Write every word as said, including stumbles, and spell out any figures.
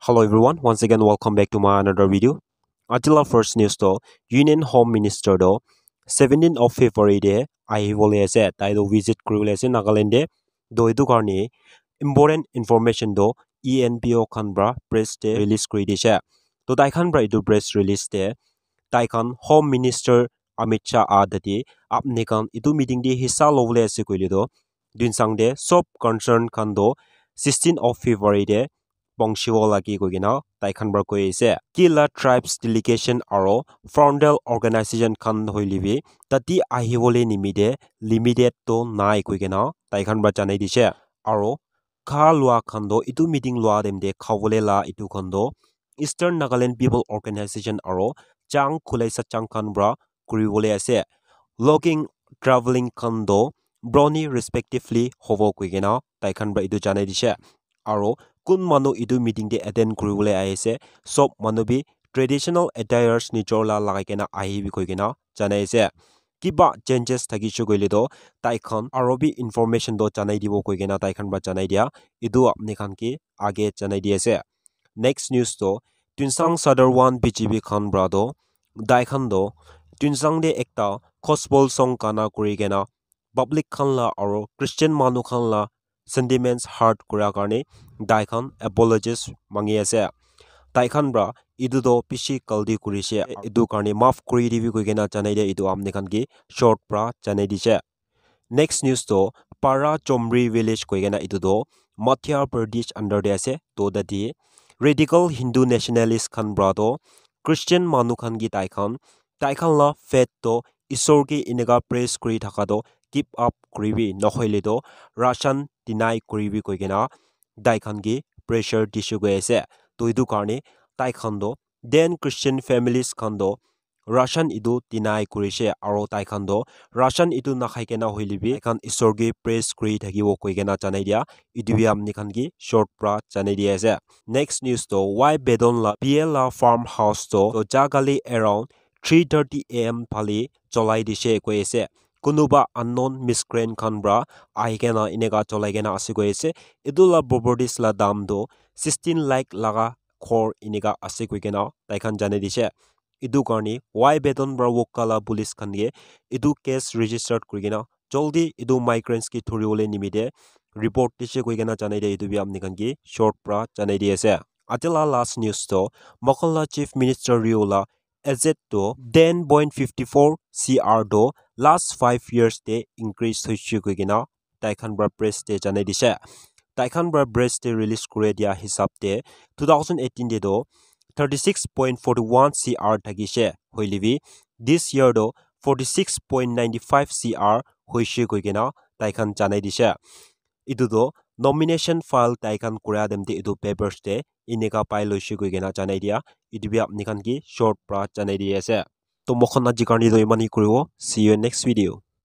Hello everyone, once again welcome back to my another video. Ajila first news to Union Home Minister to seventeenth of February de ahibole ase, tai to visit kuribole ase Nagaland de. To etu karne important information to E N P O khan pra press de release kuri dishe. To tai khan pra etu press release de tai khan Home Minister Amit Shah a tate apni khan etu meeting de hissa lobole ase koile to Tuensang de sob concern khan to sixteen of February de pongchibo lagi koi kena tai khan pra koi ase. Kila tribes delegation aro frontal organization khan hoile bi tate ahibole nimite limited to nai koi kena tai khan pra janai dishe. Aro kha lua khan to etu meeting lua time de khabole la etu khan to Eastern Nagaland People Organization aro Chang Khulai Sachang khan pra kuribole ase. Logging, traveling khan to brony respectively hobo koi kena tai khan pra etu janai dishe. Aro kun manu etu meeting de attend kuribole ahi ase, sob manu bi traditional attires nijor la lagai kena ahibi koi kena janai ase. Kiba changes thakishe koile to tai khan aro bi information to janai dibo koi kena tai khan pra janai dia. Etu apni khan ke age janai di ase. Next news to Tuensang Sadar one B G B khan pra to tai khan to Tuensang de ekta gospel song gana kuri kena public khan la aro Christian manu khan la sentiments hurt kura karne tai khan apologies mangi ase. Tai khan pra etu to bishi galti kurishe, etu karne maaf kuri dibi koi kena janai dia, etu apni khan ke short pra janai dishe. Next news to Para Chomri village koi kena etu to Madhya Pradesh under de ase. To tate radical Hindu nationalist khan pra to Christian manu khan ke tai khan tai khan la faith to Isor ke eneka praise kuri thaka to give up kuribi, nohoile to ration deny kuribi koi kena tai khan ke pressure dishe koi ase. To etu karne tai khan to then Christian families khan to ration etu deny kurishe aro tai khan to ration etu nakhai kena hoile bi tai khan Isor ke praise kuri thakibo koi kena janai dia. Etu bi apni khan ke short pra janai di ase. Next news to Y Bedon la B L la farmhouse to, to jagali around three thirty A M phale cholai dishe koi ase. Kunuba unknown miscreant khan pra ahi kena eneka cholai kena ase koi ase. Etu la properties la dam to sixteen lakh laga ghor eneka ase koi kena tai khan janai dishe. Etu karne Y Bedon pra Wokha la police khan ke etu case registered kuri kena jaldi etu migrants ke thuribole nimite report dishe koi kena janai dia, etu bi apni khan ke short pra janai di ase. Ate la last news to Mokhon la Chief Minister Rio la asset to ten point fifty four C R to last five years te increase hoishe koi kena tai khan pra press te janai dishe. Tai khan pra press te release kuri dia hisab te two thousand eighteen te to thirty six point forty one C R thakishe, hoile bi this year to forty six point ninety five C R hoishe koi kena tai khan janai dishe. Etu to nomination file tai khan kura time te etu papers te eneka pai loishe koi kena janai dia. Etu bi apni khan ke short pra janai di ase. To moikhan aji karne to iman hi kuribo. See you in next video.